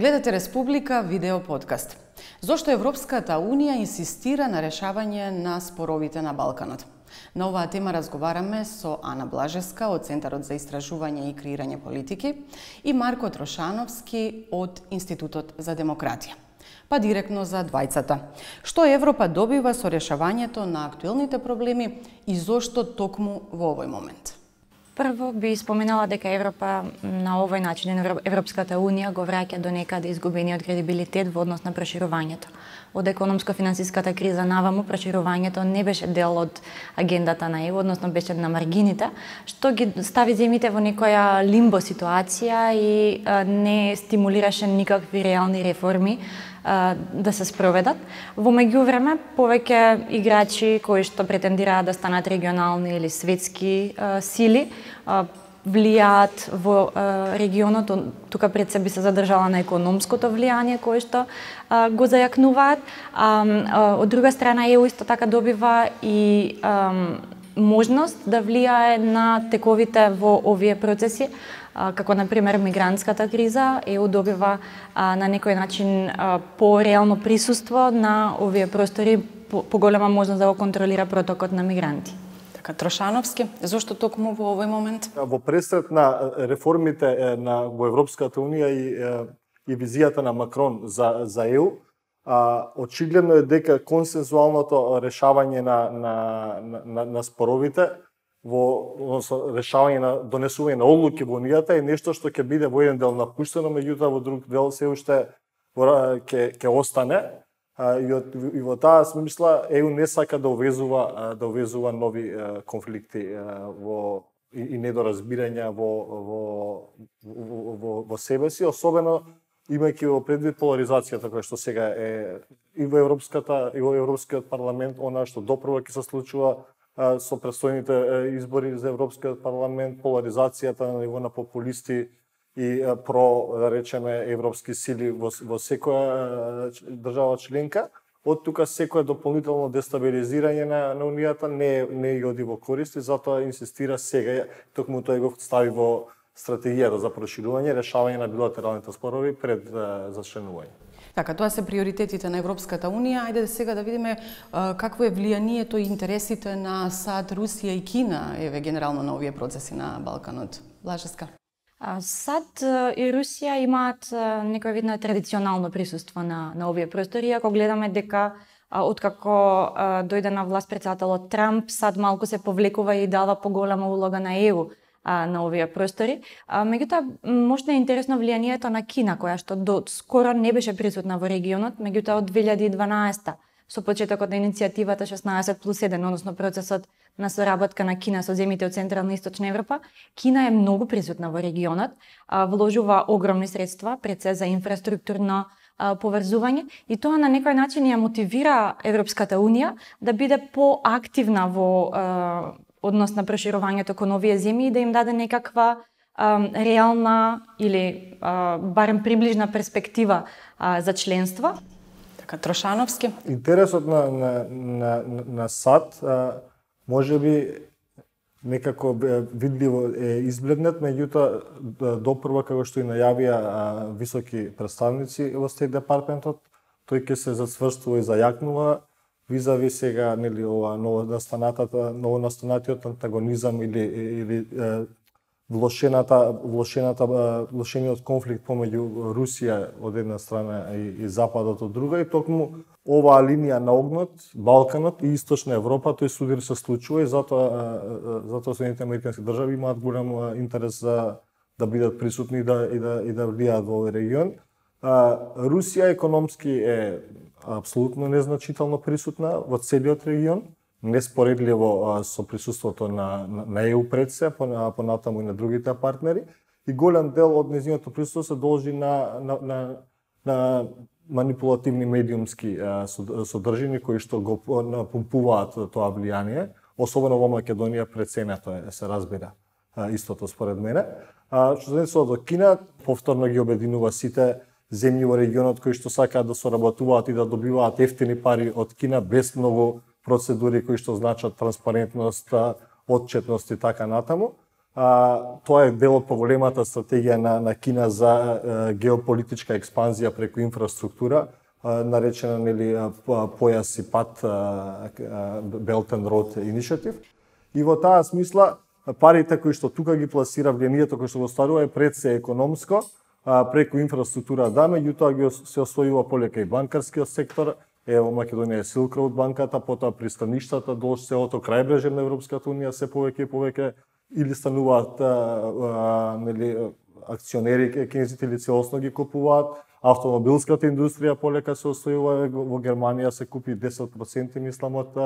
Гледате Республика видео подкаст. Зошто Европската Унија инсистира на решавање на споровите на Балканот? На оваа тема разговараме со Ана Блажевска од Центарот за истражување и креирање политики и Марко Трошановски од Институтот за демократија. Па директно за двајцата. Што Европа добива со решавањето на актуелните проблеми и зошто токму во овој момент? Прво би споменала дека Европа на овој начин, Европската Унија го враќа до некаде изгубениот кредибилитет во однос на проширувањето. Од економско-финансиската криза наваму проширувањето не беше дел од агендата на ЕУ, односно беше на маргините, што ги стави земјите во некоја лимбо ситуација и не стимулираше никакви реални реформи да се спроведат. Во меѓувреме, повеќе играчи кои што претендираат да станат регионални или светски сили влијаат во регионот. Тука пред се би се задржала на економското влијание кое што го зајакнуваат. Од друга страна, ЕУ исто така добива и можност да влијае на тековите во овие процеси, како например мигрантската криза. ЕУ добива на некој начин по-реално присуство на овие простори, поголема можност да го контролира протокот на мигранти. Така, Трошановски, зошто токму во овој момент? Во пресред на реформите во Европската Унија и визијата на Макрон за ЕУ, очигледно е дека консензуалното решавање на споровите во решавање на донесување на одлуки во Унијата е нешто што ќе биде во еден дел напуштено, меѓутоа во друг дел се уште ќе остане. И во таа смисла ЕУ не сака да увезува нови конфликти и недоразбирања во себе си, особено имајќи во предвид поларизацијата која што сега е и во Европскиот парламент, она што допрва ќе се случува со предстојните избори за Европскиот парламент, поларизацијата на ниво на популисти и да речеме европски сили во секоја држава членка. Од тука секоја дополнително дестабилизирање на Унијата не ја оди во корист и затоа инсистира сега, токму тој го стави во стратегијата за проширување, решавање на билатералните спорови пред зачленување. Така, тоа се приоритетите на Европската Унија. Ајде сега да видиме какво е влијанието и интересите на САД, Русија и Кина, генерално на овие процеси на Балканот. Блажевска. САД и Русија имаат некој вид на традиционално присуство на овие простори. Ако гледаме дека откако дојде на власт председателот Трамп, САД малку се повлекува и дава поголема улога на ЕУ на овие простори. Меѓутоа, можда е интересно влијанието на Кина, која што до скоро не беше присутна во регионот, меѓутоа од 2012 со почетокот на иницијативата 16+1, односно процесот на соработка на Кина со земјите од Централна и Источна Европа, Кина е многу присутна во регионот, вложува огромни средства пред се за инфраструктурно поврзување и тоа на некој начин ја мотивира Европската Унија да биде поактивна во однос на проширувањето кон овие земји и да им даде некаква реална или барем приближна перспектива за членство. Така, Трошановски. Интересот на САД можеби некако видливо е избледнет, меѓутоа допрва, како што и најавија високи представници во Стейт департментот, тој ќе се зацврстува и зајакнува визави сега, нели, ова новонастанатиот антагонизам или влошениот конфликт помеѓу Русија од една страна и Западот од друга, и токму оваа линија на огнот, Балканот и Источна Европа, тој судир се случува и затоа Соединетите американски држави имаат голем интерес да бидат присутни и да влијаат во овој регион. Русија економски е апсолутно незначително присутна во целиот регион, неспоредливо со присуството на ЕУ пред се, понатаму и на другите партнери, и голем дел од нејзиното присуство се должи на манипулативни медиумски содржини кои што го напумпуваат тоа влијание, особено во Македонија преценето се разбира истото според мене. Што се однесува до Кина, повторно ги обединува сите земји во регионот кои што сакаат да соработуваат и да добиваат ефтини пари од Кина без многу процедури кои што значат транспарентност, отчетност и така натаму. Тоа е дел од поголемата стратегија на Кина за геополитичка експанзија преку инфраструктура, наречена појас и пат Belt and Road Initiative. И во таа смисла парите кои што тука ги пласира, влијанието кои што го стварува е пред се економско, преку инфраструктура меѓутоа се освојува полека и банкарскиот сектор. Во Македонија е Silk Road банката, потоа пристаништата долж целото крајбрежје на Европската унија се повеќе и повеќе или стануваат акционери кинезите или целосно ги купуваат. Автомобилската индустрија полека се освојува, во Германија се купи 10% мислам од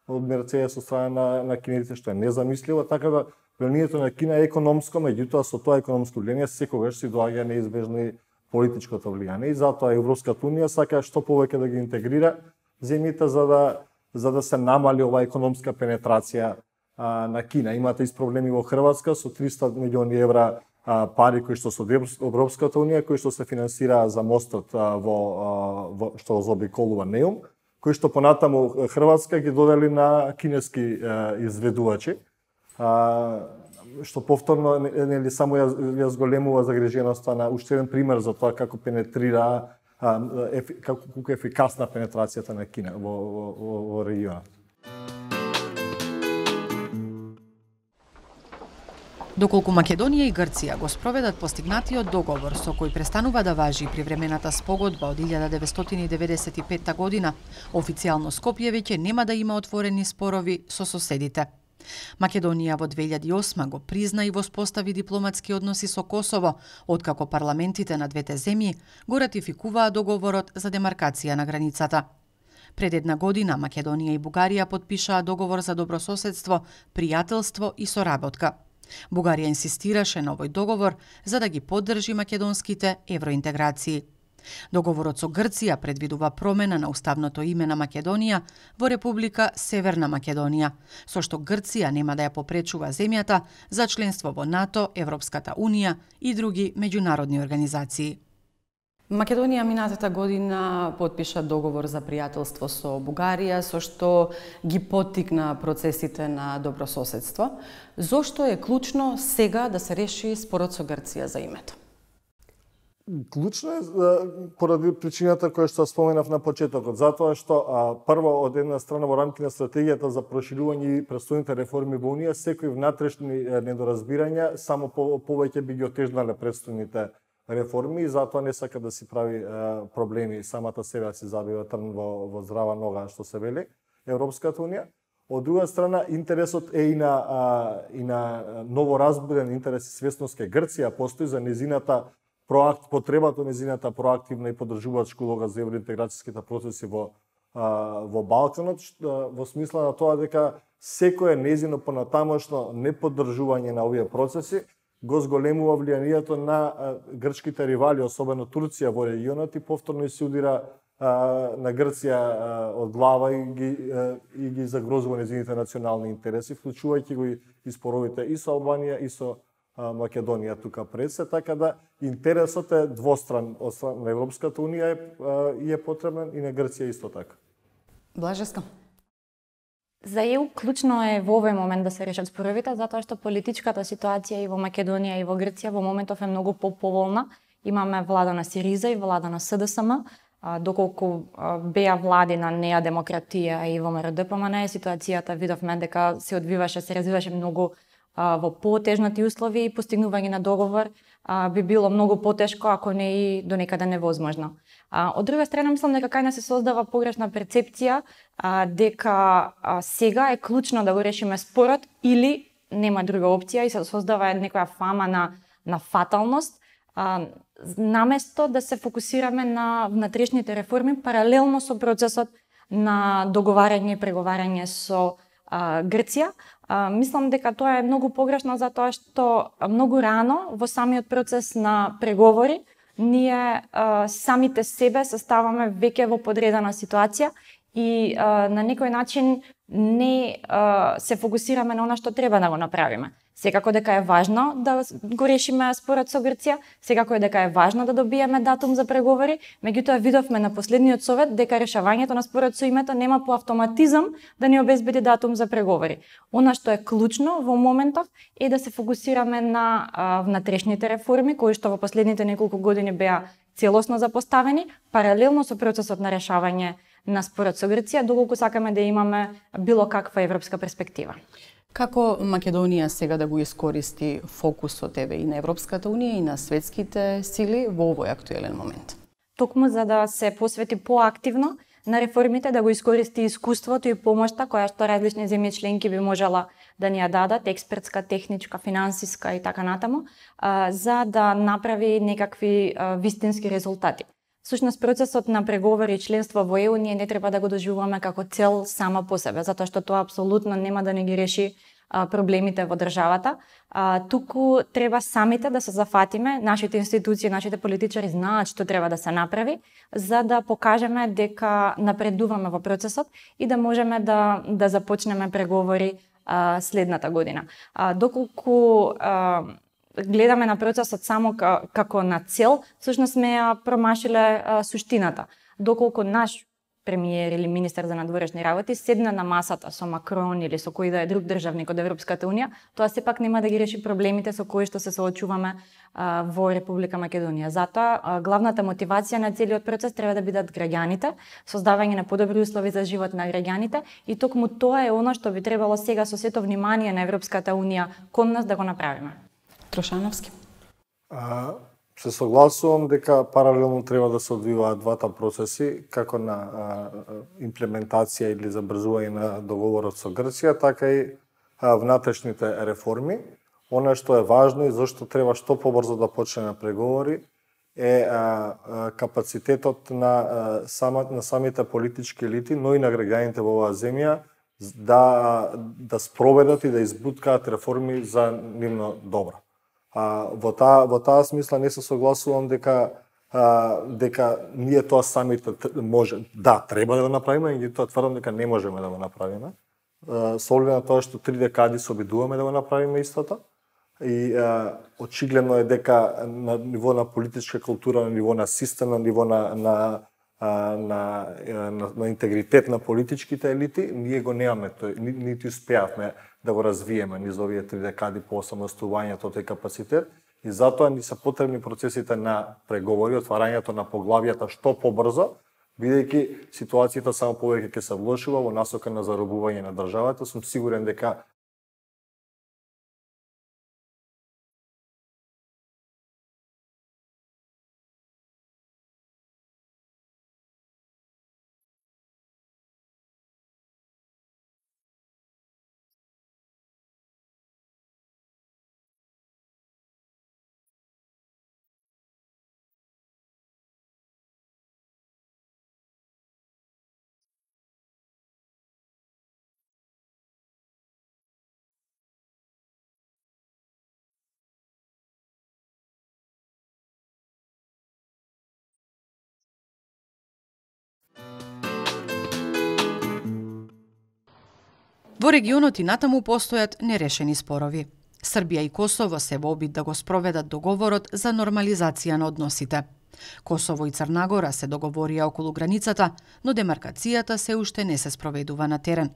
Мерцедес од страна на кинезите, што е незамисливо, така да влијанието на Кина е економско, меѓутоа со тоа економско влијание секогаш си доаѓа неизбежно и политичкото влијание. И затоа Европската унија сака што повеќе да ги интегрира земјите за да се намали оваа економска пенетрација на Кина. Имате и проблеми во Хрватска со 300 милиони евра пари кои што со Европската унија, кои што се финансираа за мостот што заобиколува Неум, кои што понатаму Хрватска ги додели на кинески изведувачи, што повторно само ја зголемува загриженоста на уште еден пример за тоа како пенетрира, како ефикасна пенетрацијата на Кина во регионот. Доколку Македонија и Грција го спроведат постигнатиот договор со кој престанува да важи привремената спогодба од 1995 година, официјално Скопје веќе нема да има отворени спорови со соседите. Македонија во 2008 го призна и воспостави дипломатски односи со Косово, откако парламентите на двете земји го ратификуваа договорот за демаркација на границата. Пред една година Македонија и Бугарија подпишаа договор за добрососедство, пријателство и соработка. Бугарија инсистираше на овој договор за да ги поддржи македонските евроинтеграции. Договорот со Грција предвидува промена на уставното име на Македонија во Република Северна Македонија, со што Грција нема да ја попречува земјата за членство во НАТО, Европската унија и други меѓународни организации. Македонија минатата година потпиша договор за пријателство со Бугарија, со што ги поттикна процесите на добрососедство. Зошто е клучно сега да се реши спорот со Грција за името? Клучно е поради причината која што споменав на почетокот, затоа што прво од една страна во рамки на стратегијата за проширување и престојните реформи во Унија, секои внатрешни недоразбирања само повеќе би ги отежнале престојните реформи и затоа не сака да си прави проблеми, самата себе си забива трн во здрава нога, што се вели Европската унија. Од друга страна, интересот е и на новоразбуден интерес и свесност кај Грција постои за незината потребата незината проактивна и поддржувачка улога за евроинтеграцијските процеси во Балканот, во смисла на тоа дека секое незино понатамошно неподдржување на овие процеси го зголемува влијанието на грчките ривали, особено Турција во регионот и повторно се удира на Грција од глава и ги загрозува незините национални интереси, вклучувајќи го и споровите и со Албанија и со Македонија тука пред се, така да интересот е двостран од страна на Европската унија и е потребен и на Грција исто така. Блажеска. За ЕУ клучно е во овој момент да се решат споровите, затоа што политичката ситуација и во Македонија и во Грција во моментов е многу поповолна. Имаме влада на Сириза и влада на СДСМ, доколку беа влади на Неа Демократија и во МРДПМН, ситуацијата видовме дека се развиваше многу во потежнати услови и постигнување на договор би било многу потешко, ако не и до некаде невозможно. Од друга страна, мислам дека кај нас се создава погрешна перцепција дека сега е клучно да го решиме спорот или нема друга опција и се создава некоја фама на фаталност, наместо да се фокусираме на внатрешните реформи паралелно со процесот на договарање и преговарање со Грција. Мислам дека тоа е многу погрешно затоа што многу рано во самиот процес на преговори ние самите себе се ставаме веќе во подредена ситуација и на некој начин не се фокусираме на она што треба да го направиме. Секако дека е важно да го решиме спорот со Грција, секако е дека е важно да добиеме датум за преговори, меѓутоа видовме на последниот совет дека решавањето на спорот со името нема по автоматизам да ни обезбеди датум за преговори. Она што е клучно во моментов е да се фокусираме на внатрешните реформи кои што во последните неколку години беа целосно запоставени, паралелно со процесот на решавање на спорот со Грција, доколку сакаме да имаме било каква европска перспектива. Како Македонија сега да го искористи фокусот и на Европската Унија и на светските сили во овој актуелен момент? Токму за да се посвети поактивно на реформите, да го искористи искуството и помошта која што различни земји членки би можела да ни ја дадат, експертска, техничка, финансиска и така натаму, за да направи некакви вистински резултати. Всушност, процесот на преговори и членство во ЕУ ние не треба да го доживуваме како цел сама по себе, затоа што тоа апсолутно нема да не ги реши проблемите во државата. Туку треба самите да се зафатиме, нашите институции, нашите политичари знаат што треба да се направи, за да покажеме дека напредуваме во процесот и да можеме да започнеме преговори следната година. Доколку гледаме на процесот само како на цел, всушност сме ја промашиле суштината. Доколку наш премиер или министер за надворешни работи седна на масата со Макрон или со кој да е друг државник од Европската Унија, тоа сепак нема да ги реши проблемите со кои што се соочуваме во Република Македонија. Затоа главната мотивација на целиот процес треба да бидат граѓаните, создавање на подобри услови за живот на граѓаните и токму тоа е она што би требало сега со сето внимание на Европската Унија кон нас да го направиме. Трошановски. Се согласувам дека паралелно треба да се одвиваат двата процеси, како на имплементација или забрзување на договорот со Грција, така и внатрешните реформи. Она што е важно и зашто треба што побрзо да почнеме преговори е капацитетот на самите политички елити, но и на граѓаните во оваа земја да спроведат и да избуткаат реформи за нивно добро. Во таа смисла не се согласувам дека ние тоа самите може, треба да го направиме, и тоа тврдам дека не можеме да го направиме. Со оглед на тоа што 3 декади се обидуваме да го направиме истото, и очигледно е дека на ниво на политичка култура, на ниво на систем, на ниво на интегритет на политичките елити, ние го немаме тој, нити успеавме да го развиеме низ овие 3 декади по осамостојувањето тој капацитет, и затоа ни се потребни процесите на преговори, отварањето на поглавјата што побрзо, бидејќи ситуацијата само повеќе ќе се влошува во насока на заробување на државата. Сум сигурен дека Во регионот и натаму постојат нерешени спорови. Србија и Косово се во обид да го спроведат договорот за нормализација на односите. Косово и Црна Гора се договорија околу границата, но демаркацијата се уште не се спроведува на терен.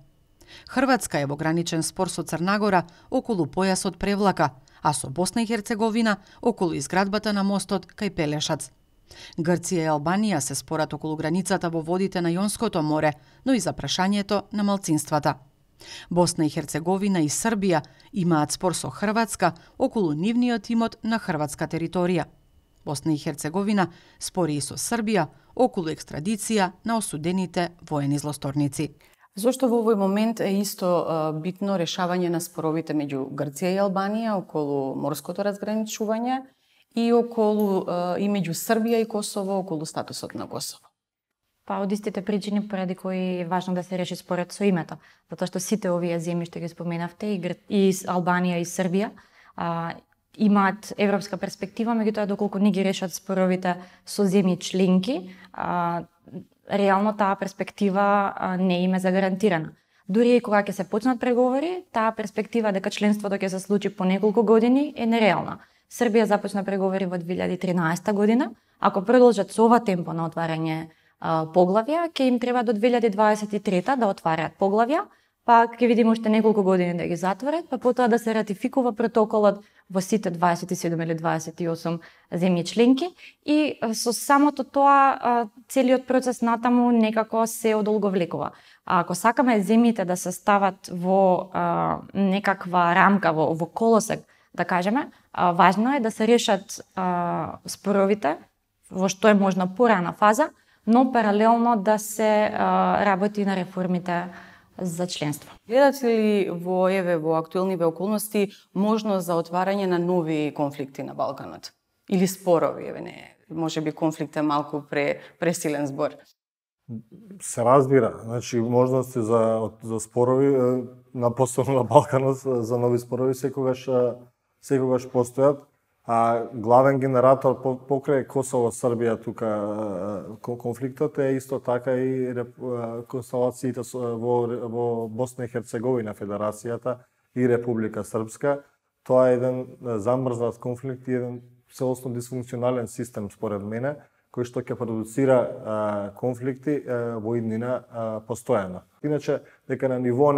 Хрватска е во граничен спор со Црна Гора околу појасот Превлака, а со Босна и Херцеговина околу изградбата на мостот кај Пелешац. Грција и Албанија се спорат околу границата во водите на Јонското море, но и за прашањето на малцинствата. Босна и Херцеговина и Србија имаат спор со Хрватска околу нивниот имот на хрватска територија. Босна и Херцеговина спори и со Србија околу екстрадиција на осудените воени злосторници. Зошто во овој момент е исто битно решавање на споровите меѓу Грција и Албанија околу морското разграничување и меѓу Србија и Косово околу статусот на Косово? Па од истите причини поради кои е важно да се реши според со името, затоа што сите овие земји што ги споменавте, и Албанија и Србија, имаат европска перспектива, меѓутоа доколку не ги решат споровите со земји членки, реално таа перспектива не им е загарантирана. Дури и кога ќе се почнат преговори, таа перспектива дека членството ќе се случи по неколку години е нереална. Србија започна преговори во 2013 година. Ако продолжат со ова темпо на отварање поглавја, ќе им треба до 2023 да отварат поглавја, па ќе видиме уште неколку години да ги затворат, па потоа да се ратификува протоколот во сите 27 или 28 земји членки и со самото тоа целиот процес натаму некако се одолговлекува. А ако сакаме земјите да се стават во некаква рамка, во колосек, да кажеме, важно е да се решат споровите во што е можна порана фаза, но паралелно да се работи на реформите за членство. Гледате ли во актуелниве околности можност за отварање на нови конфликти на Балканот? Или спорови, можеби конфликт е малку пресилен збор. Се разбира, значи можности за спорови посебно на Балканот, за нови спорови секогаш постојат. А главен генератор покрај Косово, Србија тука конфликтот е исто така и констелациите во Босна и Херцеговина, Федерацијата и Република Српска. Тоа е еден замрзнат конфликт и еден целосно дисфункционален систем според мене, кој што ќе продуцира конфликти во иднина постојано. Иначе дека на ниво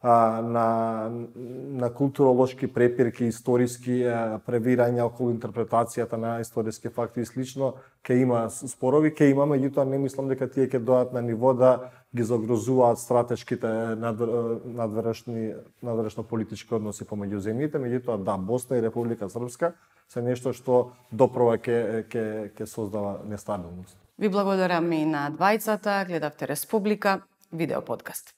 на културолошки препирки, историски превирања околу интерпретацијата на историски факти и слично, ќе има спорови, ќе има, меѓутоа не мислам дека тие ќе дојдат на ниво да ги загрозуваат стратешките надворешно политички односи помеѓу земјите, меѓутоа да, Босна и Република Српска се нешто што допрва ќе создава нестабилност. Ви благодарам и на двајцата, гледавте Республика, видео подкаст.